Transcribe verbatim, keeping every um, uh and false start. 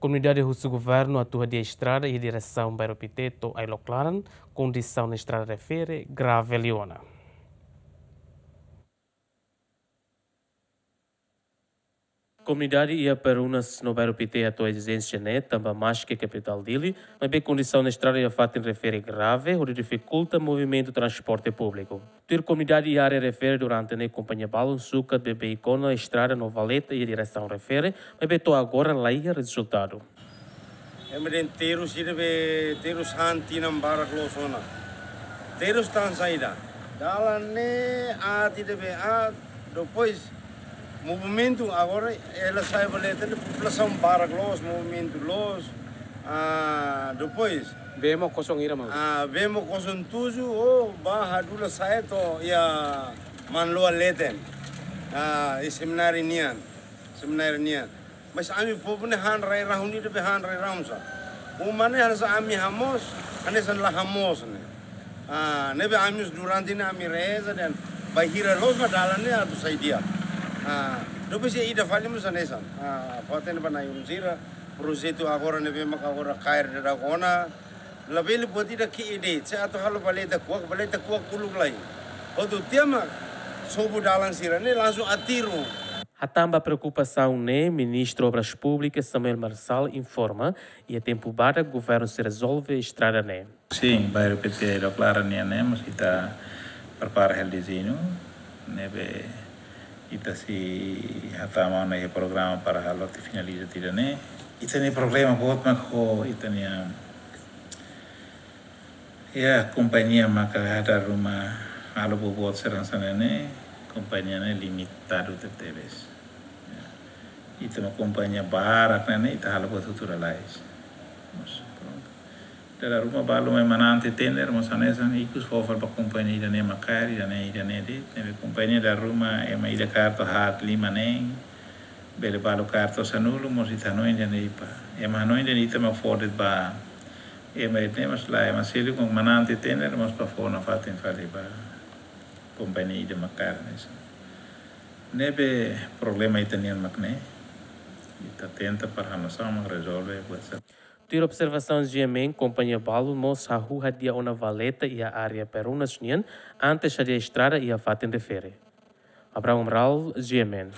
Komunidade husu governu atu hadi'a estrada iha diresaun Bairru Pité to'o Ailok Laran, kondisaun estrada refere grave liu ona. Komunidade iha Perumnas no Bairru Pité hato'o ezijénsia ne'e tanba maski kapitál Dili, maibé kondisaun estrada iha fatin refere grave, hodi difikulta movimentu transporte públiku. Tuir komunidade iha área refere durante ne'e kompañia balun sukat beibeik ona estrada no valeta iha diresaun refere, maibé to'o agora laiha rezultadu. Ema dehan terus ida be terus han tinan barak loos ona. Terus tan saida. Dalan ne'e aat ida be aat, depois movimentu agora ela sai valeta ne'e populasaun barak loos, movimentu loos. Ah, depois. Bee mós kosong hira mau. Ah, bee mós kosong tuju, oh, ba hadula sai to'o iha Manloa leten. Ah, iha semináriu nian. Semináriu nian. Mas ami povu ne'e han rai-rahun ida be han rai-rahun sá. Uma ne'e hanesan ami hamoos, hanesan la hamoos ne'e. Ah, ne'ebé ami durante ne'e ami reza dehan bainhira loos mak dalan ne'e atu sai di'ak. Ah, depois iha ida fali mós hanesan. Ah, fó-hatene ba na'i-ulun sira, projetu agora ne'ebé maka agora kaer daudaun ona, labele buat ida ke ide, se atu halo valeta kuak, valeta kuak uluk lai. Hotu tiha mak sobu dalan sira ne'e langsung aterru. Hatán ba preokupasaun ne'e, Ministru Obras Públikas Samuel Marçal informa, iha tempu badak governu sei rezolve estrada ne'e. Sin, Bairru Pité Ailok Laran nian ne'e mós ita prepara hela dezeñu, ne'ebé ita sei hatama ona iha programa para halo atu finaliza tiha ida-ne'e. Ita-nia problema boot mak ho ita-nia, ya, kompañia maka dala ruma halo buat sira hanesan ne'e, kompañia ne'e limitadu tebetebes. Ya. Ita mak kompañia barak ne'e, ita halo buat hotu lalais. Mas, pronto. Dala ruma balu mai manán tiha tender, mós hanesan ikus fó fali ba kompañia ida-ne'e mak kaer, ida-ne'e, ida-ne'e de'it. Ne'ebé kompañia dala ruma ema ida kaer to'o haat lima neen, bele balu kaer to'o sanulu, mós ita hanoin dehan ida-ne'e ita. Ema hanoin dehan ita mak fó de'it ba ema ida-ne'e, mas lae, ema seluk mak manán tiha tender, mós bá fó nafatin fali ba kompañia ida mak kaer hanesan. Ne'ebé problema ita-nian mak ne'e. Ita tenta para hanesan mak rezolve buat sira. Tuir observasaun G M N, kompañia balun mós hahú hadi'a ona valeta iha área Perumnas nian antes hadi'a estrada iha fatin refere. Abraham Amaral, G M N.